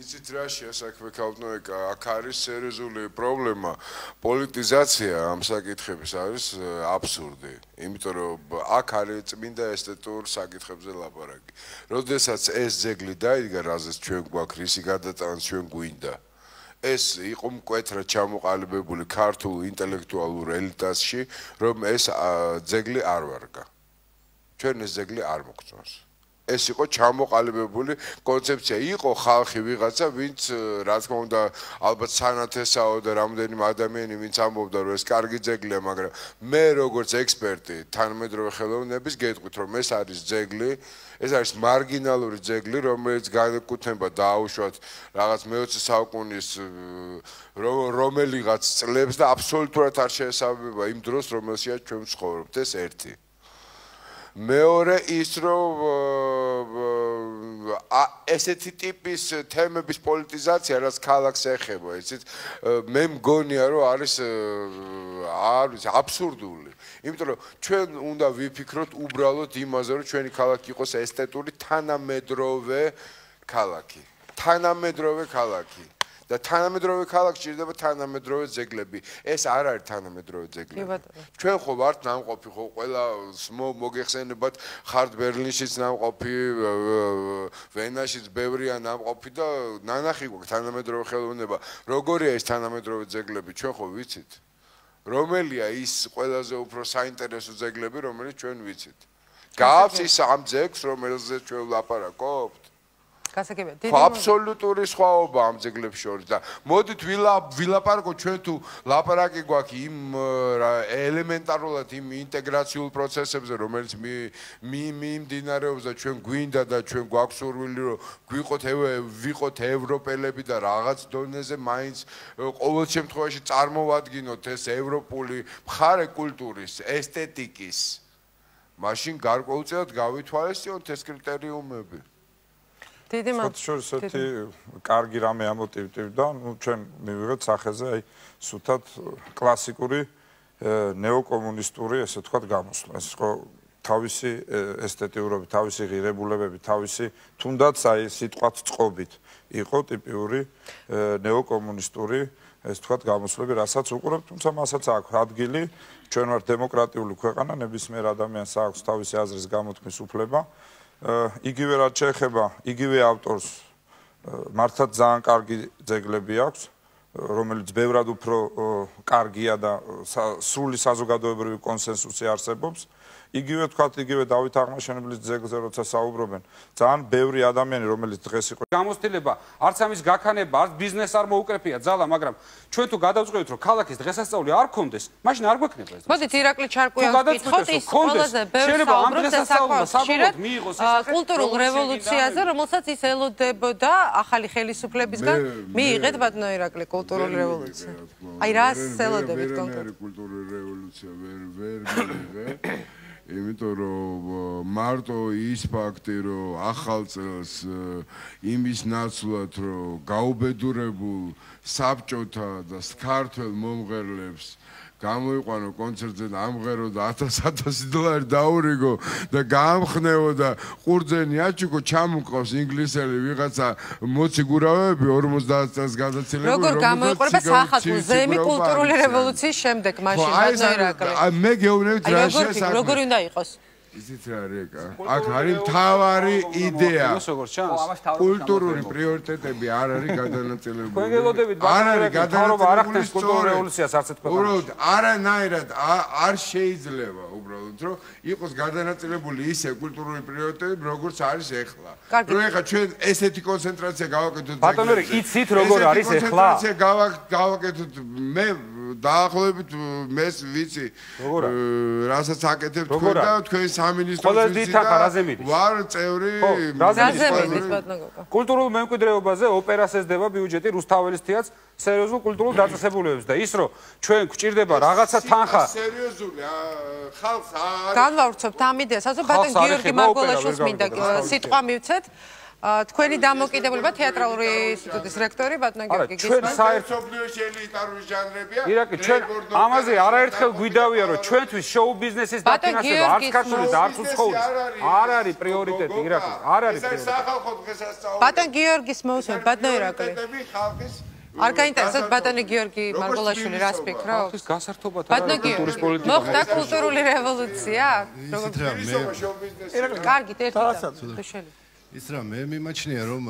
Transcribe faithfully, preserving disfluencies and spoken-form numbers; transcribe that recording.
იცით რაშია საქმე ქალბატონო, აქ არის სერიოზული პრობლემა. პოლიტიზაცია ამ საკითხების არის აბსურდი. იმიტომ რომ აქ არის წმინდა ესთეტურ საკითხებზე ლაპარაკი. როდესაც ეს ძეგლი დაიდგა, რაზეც ჩვენ გვაქვს რისი გადატანაც ჩვენ გვინდა. ეს იყო მკვეთრად ჩამოყალიბებული ქართულ ინტელექტუალურ ელიტაში, რომ ეს ძეგლი არ ვარგა. ჩვენ ეს ძეგლი არ მოგწონს. ეს იყო ჩამოყალიბებული კონცეფცია. იყო ხალხი ვიღაცა, ვინც რა თქმა უნდა, ალბათ სანათესაო და რამდენიმე ადამიანი, ვინც ამბობდა, რომ ეს კარგი ძეგლია, მაგრამ მე როგორც ექსპერტი თანამედროვე ხელოვნების გეტყვით, რომ ეს არის ძეგლი, ეს არის მარგინალური ძეგლი, რომელიც განეკუთვნება დაუშვათ რაღაც მეოცე საუკუნის რომელიღაც წლებს და აბსოლუტურად არ შეესაბამება იმ დროს, რომელშია ჩვენ ვცხოვრობთ. ეს ერთი. მეორე ის რომ ესეთი ტიპის თემების პოლიტიზაცია რაც ქალაქს ეხება, იცით, მე მგონია რომ არის არის აბსურდული. იმიტომ რომ ჩვენ უნდა ვიფიქროთ უბრალოდ იმაზე, რომ ჩვენი ქალაქი იყოს ესთეტური თანამედროვე ქალაქი. თანამედროვე ქალაქი. და თანამედროვე ქალაქში ჭირდება თანამედროვე ძეგლები. ეს არ არის თანამედროვე ძეგლები. ჩვენ ხო ვართ ნამყოფი, ხო ყველა მოგეხსენებათ, ხართ ბერლინშიც ნამყოფი, ვენაშიც ბევრია ნამყოფი და ნანახი გვაქვს თანამედროვე ხელოვნება. როგორია ეს თანამედროვე ძეგლები, ჩვენ ხო ვიცით? რომელია ის ყველაზე უფრო საინტერესო ძეგლები, რომელიც ჩვენ ვიცით? გავს ის ამ ძეგლს, რომელზეც ჩვენ ვლაპარაკობთ? გასაგებია. აბსოლუტური სხვაობა ამ ძეგლებს შორის და მოდით ვილაპარაკოთ ჩვენ თუ ლაპარაკი გვაქვს იმ ელემენტარულად იმ ინტეგრაციულ პროცესებზე, რომელიც მიმდინარეობს და ჩვენ გვინდა და ჩვენ გვაქვს სურვილი, რომ გვიყოთ ვიყოთ ევროპელები და რაღაც დონეზე მაინც ყოველ შემთხვევაში წარმოვადგინოთ ეს ევროპული მხარე კულტურის, ესთეტიკის. მაშინ გარკვეულწილად გავითვალისწინოთ ეს კრიტერიუმები. დიდი მადლობა. შორის ერთი კარგი რამე ამოტივტივდა, ნუ ჩვენ მივიღეთ სახეზე აი სუთად კლასიკური ნეოკომუნისტური, ესე ვთქვათ, გამოსვლა. ეს ხო თავისი ესთეტიურობით, თავისი ღირებულებებით, თავისი თუნდაც აი სიტყვათ წყობით იყო ტიპიური ნეოკომუნისტური, ეს ვთქვათ, გამოსვლები, რასაც უყურებთ, თუმცა მასაც აქვს ადგილი. ჩვენ ვართ დემოკრატიული ქვეყანა, ნებისმიერ ადამიანს აქვს თავისი აზრის გამოთქმის უფლება. იგივე რაც შეეხება იგივე ავტორს მართლაც ძალიან კარგი ძეგლები აქვს, რომელიც ბევრად უფრო კარგია და სრული საზოგადოებრივი კონსენსუსი არსებობს. იგივე თქვათ, იგივე დავით აღმაშენებლის ძეგლზე როცა საუბრობენ, ძალიან ბევრი ადამიანი, რომელიც დღეს იყო გამოცდილება, არც ამის გაქანება, არც ბიზნეს არ მოუკრეფია ძალა, მაგრამ ჩვენ თუ გადავწყვეტთ, რომ ქალაქის დღესასწაული არ გქონდეს, მაშინ არ გვექნება ეს. მოდით ირაკლი ჩარკვიანს ვკითხოთ, ის ყველაზე ბევრ საუბრობს საკუთრივად კულტურულ რევოლუციაზე, რომელსაც ის ელოდებოდა ახალი ხელისუფლებისგან. მიიღეთ ბატონო ირაკლი კულტურული რევოლუცია. აი რას ელოდებით კონკრეტულად? კულტურული რევოლუცია ვერ ვერ მიიღე. იმიტომ რომ მარტო ის ფაქტი, რომ ახალ წელს იმის ნაცვლად, რომ გაუბედურებულ საბჭოთა და ქართველ მომღერლებს გამოიყვანო კონცერტზე და ამღერო და ათას-ათასი დოლარი დაურიგო და გაამხნევო და ყურძენი აჩუქო, ჩამოყავს ინგლისელი ვიღაცა მოციგურავები ორმოცდაათ წელს გადაცილებული. როგორ გამოიყურება სახალხო ზემი კულტურული რევოლუციის შემდეგ მაშინ ბატონო ირაკლი? მე გეუბნებით რაშია საქმე. როგორ უნდა იყოს? იცით რა რეკა, აქ არის მთავარი იდეა. კულტურული პრიორიტეტები არ არის გადანაწილებული. თქვენ გელოდებით არ არის გადანაწილებული კულტურული რევოლუციას არც თქვენ. უბრალოდ არანაირად არ შეიძლება უბრალოდ რომ იყოს გადანაწილებული ისე კულტურული პრიორიტეტები, როგორც არის ეხლა. რომ ეხლა ჩვენ ესეთი კონცენტრაცია გავაკეთოთ. ბატონო, იცით როგორ არის ეხლა? კონცენტრაცია გავაკეთოთ მე დაახლოებით მეს ვიცი რასაც აკეთებ თქვენ და თქვენ სამინისტროს ვიცი და ვარ წევრი კულტურულ მემკვიდრეობაზე ოპერას ესდება ბიუჯეტი რუსთაველის თეატრს სერიოზულ კულტურულ დაწესებულებებს და ის რომ ჩვენ გვჭირდება რაღაცა თანხა სერიოზული ხალხს არ განვავრცობთ ამ იდეას ასე ბატონ გიორგი მარგველაშვილს მინდა სიტყვა მივცეთ თქვენი დამოკიდებულება თეატრალური ინსტიტუტის რექტორი ბატონო გიორგი გისმენთ. ჩვენ საერთოდ ელიტარული ჟანრებია. ირაკი, ჩვენ ამაზე არაერთხელ გვიდავია, რომ ჩვენთვის შოუ ბიზნესის დაფინანსება არც ქართული და არც უცხოური არ არის პრიორიტეტი, ირაკი, არ არის პრიორიტეტი. ეს სახალხო დღესასწაული. ბატონ გიორგის მოусმენთ, ბატონო ირაკლი. არ გაინტერესებთ ბატონი გიორგი მარგოლაშვილი რას ფიქრობს? ეს გასართობად ბატონო გიორგი, მოხდა კულტურული რევოლუცია? ისეთ რამე კარგით, ერთი და. ის რა მე მიმაჩნია რომ